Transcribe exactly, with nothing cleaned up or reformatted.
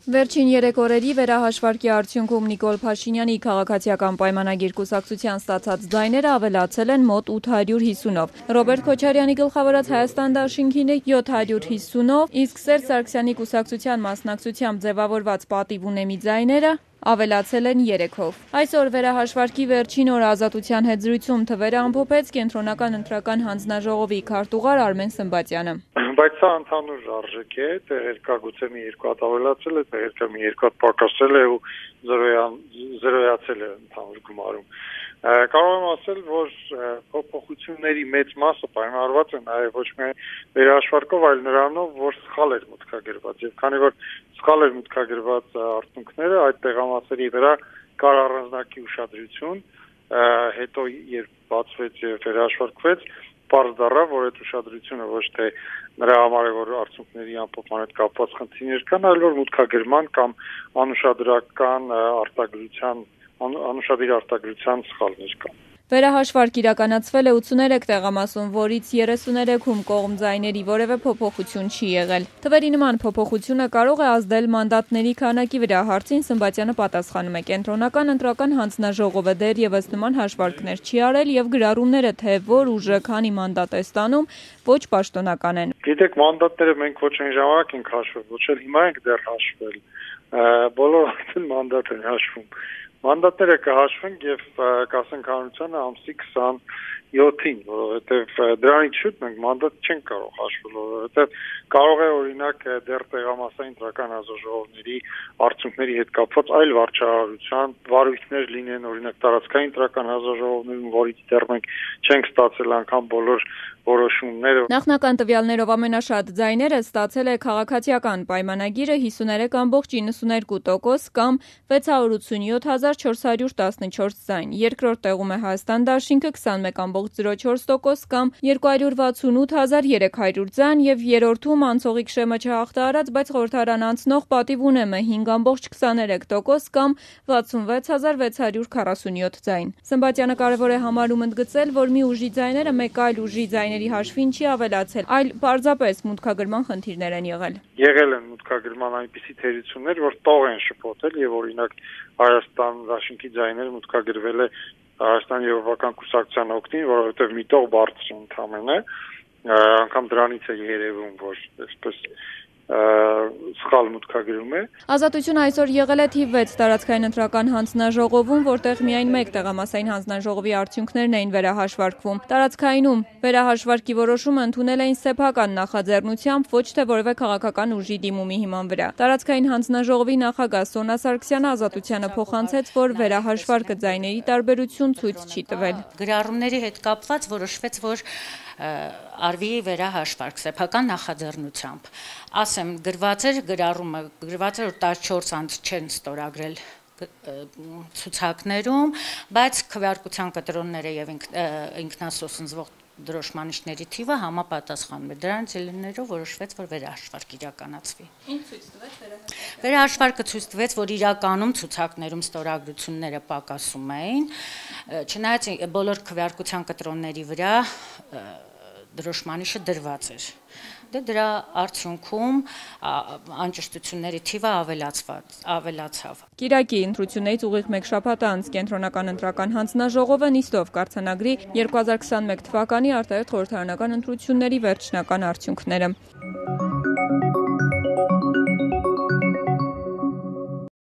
Վերջին երեք օրերի վերահաշվարկի արդյունքում Նիկոլ Փաշինյանի քաղաքացիական պայմանագիր կուսակցության ստացած ձայները ավելացել են մոտ ութ հարյուր հիսունով։ Ռոբերտ Քոչարյանի գլխավորած Հայաստան դաշինքինը յոթ հարյուր հիսունով, իսկ Սերժ Սարգսյանի կուսակցության մասնակցությամբ ձևավորված պատիվ ունեմի ձայները ավելացել են երեքով։ Այսօր վերահաշվարկի վերջին օրը Ազատության հետ զրույցում թվերը ամփոփեց Կենտրոնական ընտրական հանձնաժողովի քարտուղար Արմեն Սմբատյանը։ Բայց սա ընդհանուր արժեք է, տեղերկա գուցե մի երկու հատ ավելացել է, տեղերկա մի երկու հատ պակասել է ու զրոյացել է ընդհանուր գումարում։ Կարող եմ ասել, որ փոփոխությունների մեծ մասը պայմանավորված է նաև ոչ միայն վերահաշվարկով, այլ նրանով, որ սխալ էր մուտքագրված, եւ քանի որ սխալ էր մուտքագրված արդյունքները, այդ տեղամասերի վրա կար առանձնակի ուշադրություն, հետո երբ բացվեց եւ վերահաշվարկվեց, պարզ դառավ, որ այդ ուշադրությունը ոչ թե նրա համար է, որ արդյունքների ամփոփման հետ կապված խնդիրներ կան, այլ որ մուտքագրման կամ անուշադրական արտադրության անուշադիր արտադրության սխալներ կան։ Վերահաշվարկ իրականացվել է ութսուներեք տեղամասում, որից երեսուներեքում կողմ ձայների որևէ փոփոխություն չի եղել։ Թվերի նման փոփոխությունը կարող է ազդել մանդատների քանակի վրա, հարցին Սմբատյանը պատասխանում է. Կենտրոնական ընտրական հանձնաժողովը դեռևս նման հաշվարկներ չի արել եւ գրառումները, թե որ ուժը քանի մանդատ է ստանում, ոչ պաշտոնական են։ Գիտեք, մանդատները մենք ոչ այն ժամանակ ենք հաշվել, ոչ էլ հիմա ենք դեռ հաշվել։ Բոլոր արդեն մանդատ են հաշվում։ Մանդատները կհաշվեն եւ կասենք հանրությանը ամսի քսանյոթին, որովհետեւ դրանից շուտ մենք մանդատ չենք կարող հաշվել, որովհետեւ կարող է օրինակ դեռ տեղամասային ընտրական հանձնաժողովների արդյունքների հետ կապված այլ վարչահարության վարույթներ լինեն, օրինակ տարածքային ընտրական հանձնաժողովներում, որից դեռ մենք չենք ստացել անգամ բոլոր որոշումները։ Նախնական տվյալներով ամենաշատ ձայները ստացել է քաղաքացիական պայմանագիրը հիսուներեք ամբողջ իննսուներկու տոկոս կամ վեց հարյուր ութսունյոթ հազար չորս հարյուր տասնչորս ձայն։ Երկրորդ տեղում է Հայաստան դաշինքը քսանմեկ ամբողջ զրո չորս տոկոս կամ երկու հարյուր վաթսունութ հազար երեք հարյուր ձայն եւ երրորդում անցողիկ շեմը չհաղթահարած, բայց խորհրդարան անցնող պատիվ ունեմը հինգ ամբողջ քսաներեք տոկոս կամ վաթսունվեց հազար վեց հարյուր քառասունյոթ ձայն։ Սմբատյանը կարևոր է համարում ընդգծել, որ մի ուժի ձայները մեկ այլ ուժի ձայների հաշվին չի ավելացել, այլ պարզապես մուտքագրման խնդիրներ են եղել։ Եղել են մուտքագրման այնպիսի թերություններ, որ տող են շփոթել եւ օրինակ Հայաստան դաշինքի ձայները մուտքագրվել է Հայաստան Եվրոպական կուսակցության օգտին, որովհետեւ մի տող բարձր ընդամենը, անգամ դրանից է երևում, որ այսպես սխալ մուտքագրում է։ Ազատությունը այսօր եղել է թիվ վեց տարածքային ընտրական հանձնաժողովում, որտեղ միայն մեկ տեղամասային հանձնաժողովի արդյունքներն էին վերահաշվարկվում։ Տարածքայինում վերահաշվարկի որոշումը ընդունել էին սեփական նախաձեռնությամբ, ոչ թե որևէ քաղաքական ուժի դիմումի հիման վրա։ Տարածքային հանձնաժողովի նախագահ Սոնա Սարգսյանը Ազատությանը փոխանցեց, որ վերահաշվարկը ձայների տարբերություն ցույց չի տվել։ Գրառումների հետ կապված որոշվեց, որ արվի վերահաշվարկ սեփական նախաձեռնությամբ։ Ասեմ, գրված էր գրառումը, գրված էր, որ տասնչորս անձ չեն ստորագրել ցուցակներում, բայց քվեարկության կտրոնները եւ ինքնասոսնձվող դրոշմանիչների թիվը համապատասխանում է։ Դրանից ելնելով որոշվեց, որ վերահաշվարկ իրականացվի։ Ինչ ցույց տվեց վերահաշվարկը։ Վերահաշվարկը ցույց տվեց, որ իրականում ցուցակներում ստորագրությունները պակասում էին, չնայած բոլոր քվեարկության կտրոնների վրա դրոշմանիչը դրված էր։ Դե դրա արդյունքում անճշտությունների թիվը ավելացավ։ Կիրակի ընտրություններից ուղիղ մեկ շաբաթ անց Կենտրոնական ընտրական հանձնաժողովը նիստով կարձանագրի երկու հազար քսանմեկ թվականի արտահերթ խորհրդարանական ընտրությունների վերջնական արդյունքները։